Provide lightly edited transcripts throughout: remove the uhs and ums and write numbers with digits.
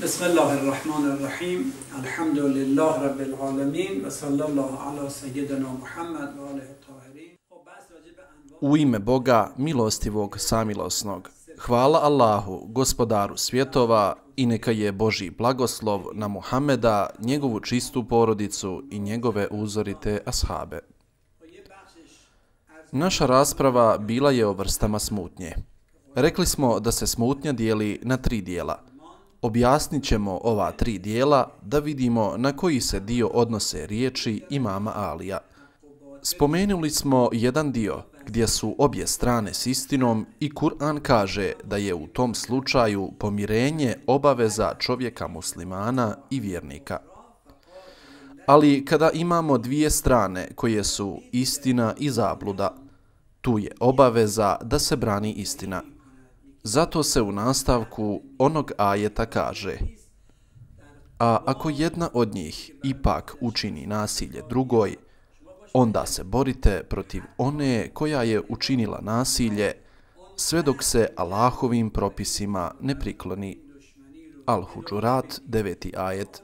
Bismillahirrahmanirrahim. Alhamdulillah rabbil alamin. Wa sallallahu ala sayyidina Muhammad wa alihi tahirin. U ime Boga, milostivog, samilosnog. Hvala Allahu, gospodaru svjetova, i neka je Božji blagoslov na Muhameda, njegovu čistu porodicu i njegove uzorite ashabe. Naša rasprava bila je o vrstama smutnje. Rekli smo da se smutnja dijeli na 3 dijela. Objasnit ćemo ova 3 dijela da vidimo na koji se dio odnose riječi imama Alija. Spomenuli smo jedan dio gdje su obje strane s istinom i Kur'an kaže da je u tom slučaju pomirenje obaveza čovjeka muslimana i vjernika. Ali kada imamo 2 strane koje su istina i zabluda, tu je obaveza da se brani istina. Zato se u nastavku onog ajeta kaže: a ako jedna od njih ipak učini nasilje drugoj, onda se borite protiv one koja je učinila nasilje, sve dok se Allahovim propisima ne prikloni. Al-Huđurat, 9. ajet.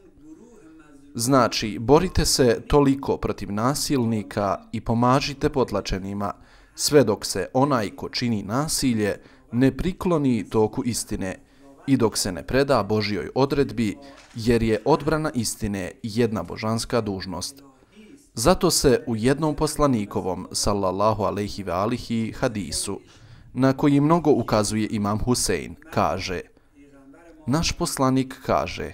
Znači, borite se toliko protiv nasilnika i pomažite potlačenima, sve dok se onaj ko čini nasilje ne prikloni toku istine i dok se ne preda Božjoj odredbi, jer je odbrana istine jedna božanska dužnost. Zato se u jednom poslanikovom, sallallahu alejhi ve alihi, hadisu, na koji mnogo ukazuje imam Husein, kaže: naš poslanik kaže,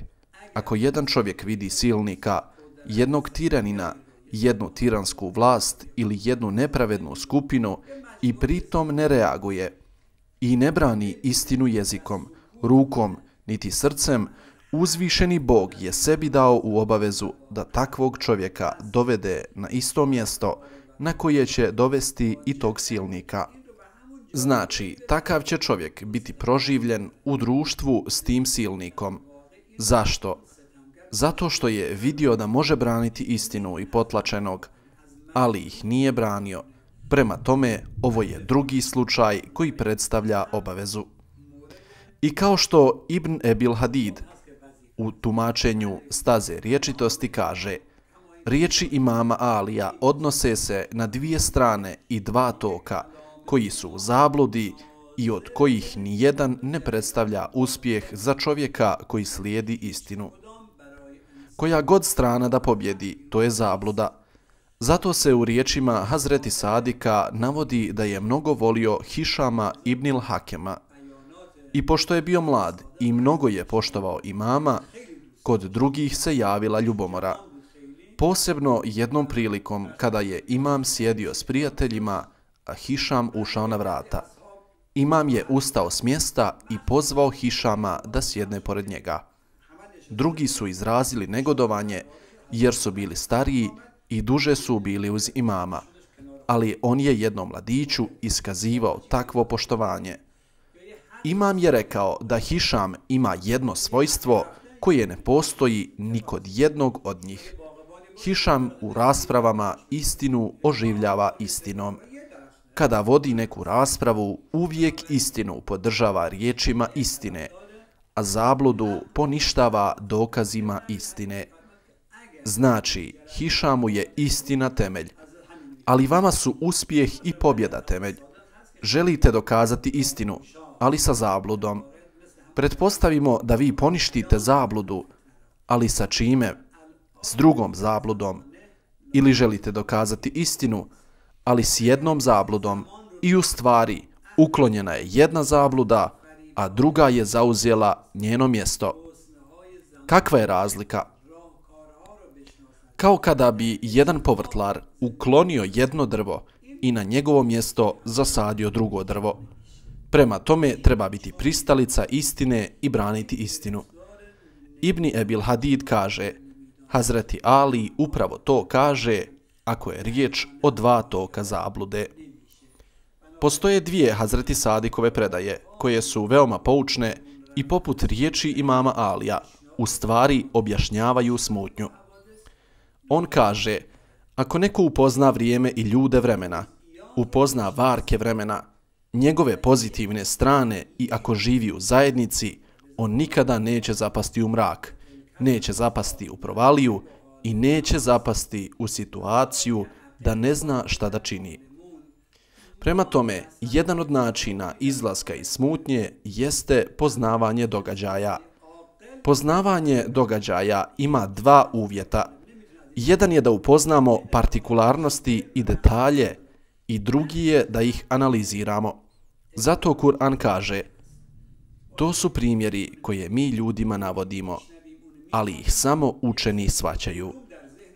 ako jedan čovjek vidi silnika, jednog tiranina, jednu tiransku vlast ili jednu nepravednu skupinu i pritom ne reaguje i ne brani istinu jezikom, rukom, niti srcem, uzvišeni Bog je sebi dao u obavezu da takvog čovjeka dovede na isto mjesto na koje će dovesti i tog silnika. Znači, takav će čovjek biti proživljen u društvu s tim silnikom. Zašto? Zato što je vidio da može braniti istinu i potlačenog, ali ih nije branio. Prema tome, ovo je drugi slučaj koji predstavlja obavezu. I kao što Ibn Ebil Hadid u tumačenju staze riječitosti kaže: riječi imama Alija odnose se na 2 strane i 2 toka koji su u zabludi i od kojih ni jedan ne predstavlja uspjeh za čovjeka koji slijedi istinu. Koja god strana da pobjedi, to je zabluda. Zato se u riječima Hazreti Sadika navodi da je mnogo volio Hišama ibnil Hakema. I pošto je bio mlad i mnogo je poštovao imama, kod drugih se javila ljubomora. Posebno jednom prilikom kada je imam sjedio s prijateljima, a Hišam ušao na vrata. Imam je ustao s mjesta i pozvao Hišama da sjedne pored njega. Drugi su izrazili negodovanje jer su bili stariji i duže su bili uz imama, ali on je jednom mladiću iskazivao takvo poštovanje. Imam je rekao da Hišam ima jedno svojstvo koje ne postoji ni kod jednog od njih. Hišam u raspravama istinu oživljava istinom. Kada vodi neku raspravu, uvijek istinu podržava riječima istine, a zabludu poništava dokazima istine. Znači, Hišamu je istina temelj, ali vama su uspjeh i pobjeda temelj. Želite dokazati istinu, ali sa zabludom. Pretpostavimo da vi poništite zabludu, ali sa čime? S drugom zabludom. Ili želite dokazati istinu, ali s jednom zabludom i u stvari uklonjena je jedna zabluda, a druga je zauzela njeno mjesto. Kakva je razlika? Kao kada bi jedan povrtlar uklonio jedno drvo i na njegovo mjesto zasadio drugo drvo. Prema tome treba biti pristalica istine i braniti istinu. Ibn Ebil Hadid kaže: Hazreti Ali upravo to kaže ako je riječ o 2 toka zablude. Postoje 2 Hazreti Sadikove predaje koje su veoma poučne i poput riječi imama Alija u stvari objašnjavaju smutnju. On kaže: ako neko upozna vrijeme i ljude vremena, upozna varke vremena, njegove pozitivne strane i ako živi u zajednici, on nikada neće zapasti u mrak, neće zapasti u provaliju i neće zapasti u situaciju da ne zna šta da čini. Prema tome, jedan od načina izlaska iz smutnje jeste poznavanje događaja. Poznavanje događaja ima dva uvjeta. Jedan je da upoznamo partikularnosti i detalje i drugi je da ih analiziramo. Zato Kur'an kaže: to su primjeri koje mi ljudima navodimo, ali ih samo učeni shvaćaju.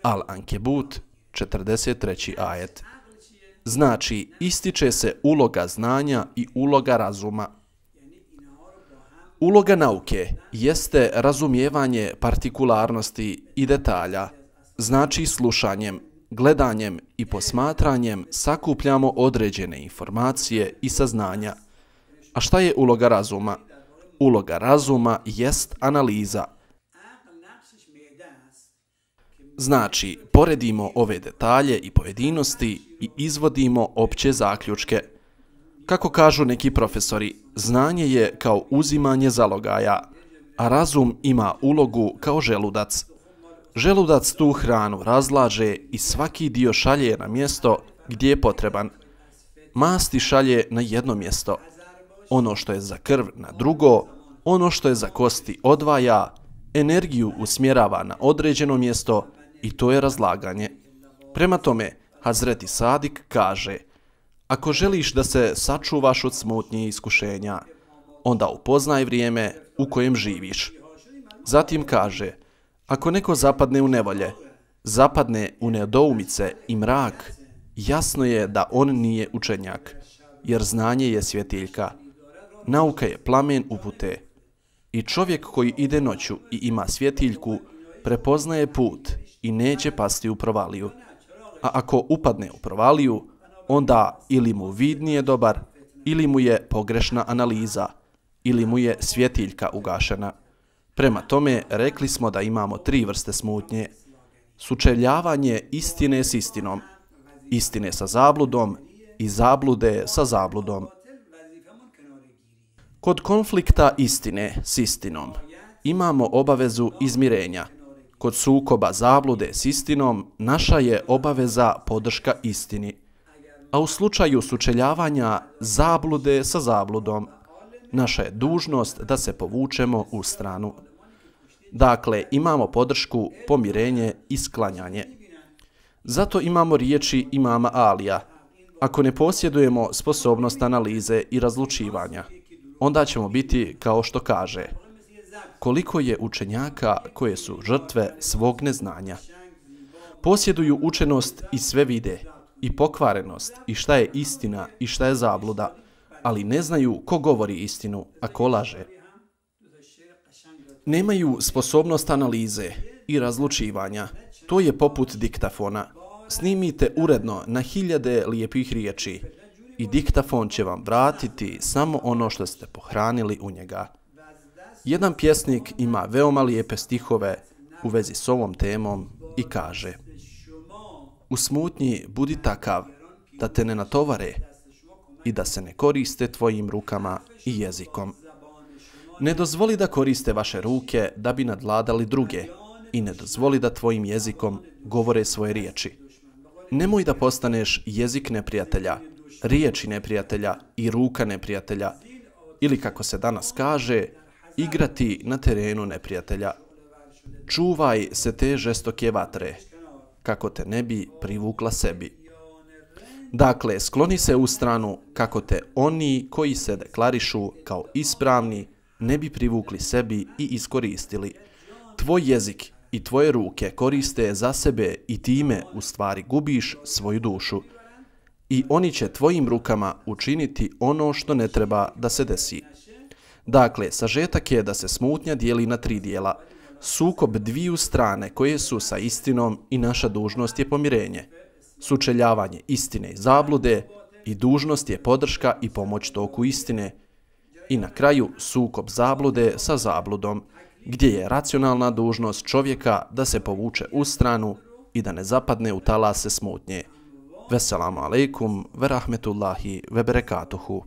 Al-Ankebut, 43. ajet. Znači, ističe se uloga znanja i uloga razuma. Uloga nauke jeste razumijevanje partikularnosti i detalja. Znači, slušanjem, gledanjem i posmatranjem sakupljamo određene informacije i saznanja. A šta je uloga razuma? Uloga razuma jest analiza. Znači, poredimo ove detalje i pojedinosti i izvodimo opće zaključke. Kako kažu neki profesori, znanje je kao uzimanje zalogaja, a razum ima ulogu kao želudac. Želudac tu hranu razlaže i svaki dio šalje na mjesto gdje je potreban. Masti šalje na jedno mjesto. Ono što je za krv na drugo, ono što je za kosti odvaja, energiju usmjerava na određeno mjesto i to je razlaganje. Prema tome, Hazreti Sadik kaže: ako želiš da se sačuvaš od smutnje i iskušenja, onda upoznaj vrijeme u kojem živiš. Zatim kaže: ako neko zapadne u nevolje, zapadne u nedoumice i mrak, jasno je da on nije učenjak, jer znanje je svjetiljka. Nauka je plamen upute. I čovjek koji ide noću i ima svjetiljku, prepoznaje put i neće pasti u provaliju. A ako upadne u provaliju, onda ili mu vid nije dobar, ili mu je pogrešna analiza, ili mu je svjetiljka ugašena. Prema tome, rekli smo da imamo 3 vrste smutnje. Sučeljavanje istine s istinom, istine sa zabludom i zablude sa zabludom. Kod konflikta istine s istinom imamo obavezu izmirenja. Kod sukoba zablude s istinom naša je obaveza podrška istini. A u slučaju sučeljavanja zablude sa zabludom, naša je dužnost da se povučemo u stranu. Dakle, imamo podršku, pomirenje i sklanjanje. Zato imamo riječi imama Alija: ako ne posjedujemo sposobnost analize i razlučivanja, onda ćemo biti kao što kaže: koliko je učenjaka koje su žrtve svog neznanja. Posjeduju učenost i sve vide, i pokvarenost, i šta je istina i šta je zabluda, ali ne znaju ko govori istinu, a ko laže. Nemaju sposobnost analize i razlučivanja. To je poput diktafona. Snimite uredno na 1000 lijepih riječi i diktafon će vam vratiti samo ono što ste pohranili u njega. Jedan pjesnik ima veoma lijepe stihove u vezi s ovom temom i kaže: u smutnji budi takav da te ne natovare i da se ne koriste tvojim rukama i jezikom. Ne dozvoli da koriste vaše ruke da bi nadvladali druge i ne dozvoli da tvojim jezikom govore svoje riječi. Nemoj da postaneš jezik neprijatelja, riječi neprijatelja i ruka neprijatelja, ili kako se danas kaže, igrati na terenu neprijatelja. Čuvaj se te žestoke vatre, kako te ne bi privukla sebi. Dakle, skloni se u stranu kako te oni koji se deklarišu kao ispravni ne bi privukli sebi i iskoristili. Tvoj jezik i tvoje ruke koriste za sebe i time u stvari gubiš svoju dušu. I oni će tvojim rukama učiniti ono što ne treba da se desi. Dakle, sažetak je da se smutnja dijeli na 3 dijela. Sukob dviju strane koje su sa istinom i naša dužnost je pomirenje. Sučeljavanje istine i zablude i dužnost je podrška i pomoć toku istine. I na kraju sukob zablude sa zabludom, gdje je racionalna dužnost čovjeka da se povuče u stranu i da ne zapadne u talase smutnje. Veselamu alejkum ve rahmetullahi ve berekatuhu.